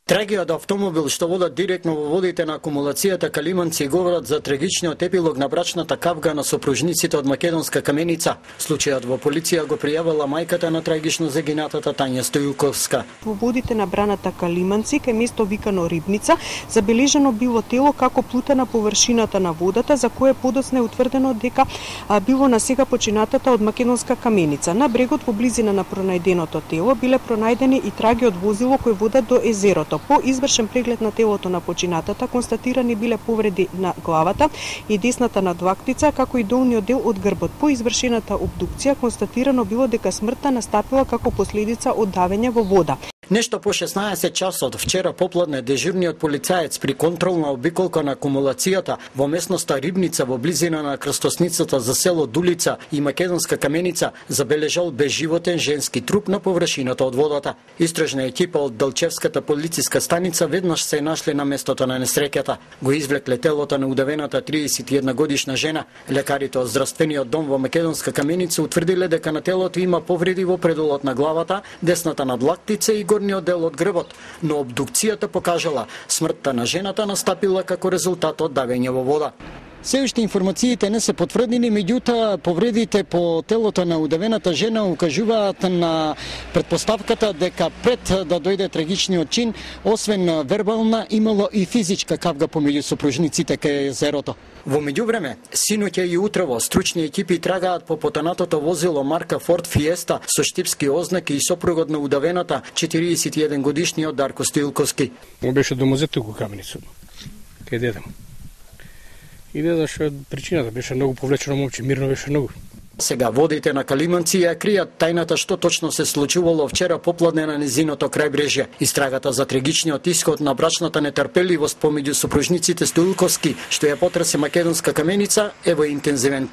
Трагијата автомобил што водат директно во водите на акумулацијата Калиманци говорат за трагичниот епилог на брачната кавга на сопружниците од македонска Каменица. Случајот во полиција го пријавила мајката на трагично загинатата Тања Стојуковска. Во водите на браната Калиманци, кај место викано Рибница, забележано било тело како плута на површината на водата, за кое подоцна е утврдено дека било на сега починатата од македонска Каменица. На брегот во близина на пронајденото тело биле пронајдени и траги од возило кој водат до езерото. По извршен преглед на телото на починатата, констатирани биле повреди на главата и десната надвактица, како и долниот дел од грбот. По извршената обдукција, констатирано било дека смртта настапила како последица од давење во вода. Нешто по 16 часот вчера попладне дежурниот полицаец при контролна обиколка на акумулацијата во местноста Рибница во близина на крстосницата за село Дулица и македонска Каменица забележал безживотен женски труп на површината од водата. Истражна екипа од Делчевската полициска станица веднаш се нашли на местото на несреќата. Го извлекле телото на удавената 31 годишна жена. Лекарите од здравствениот дом во македонска Каменица утврдиле дека на телото има повреди во предолот на главата, десната надлактица и горниот дел од грбот, но обдукцијата покажала смртта на жената настапила како резултат од давење во вода. Се уште информациите не се потврдени, меѓутоа повредите по телото на удавената жена укажуваат на претпоставката дека пред да дојде трагичниот чин, освен вербална, имало и физичка кавга помеѓу сопружниците кај езерото. Во меѓувреме, синоќа и утрово стручни екипи трагаат по потонатото возило марка Ford Fiesta со штипски ознаки и сопругот на удавената 41 годишниот Дарко Стојуковски. Он беше домозет во Каменица, кај дедам. И не зашо причината, беше многу повлечено момче, мирно беше многу. Сега водите на Калиманци ја кријат тајната што точно се случувало вчера попладне на низиното крајбрежје. Истрагата за трагичниот исход на брачната нетрпеливост помеѓу сопружниците Стојуковски, што ја потраси македонска Каменица, е во интензивен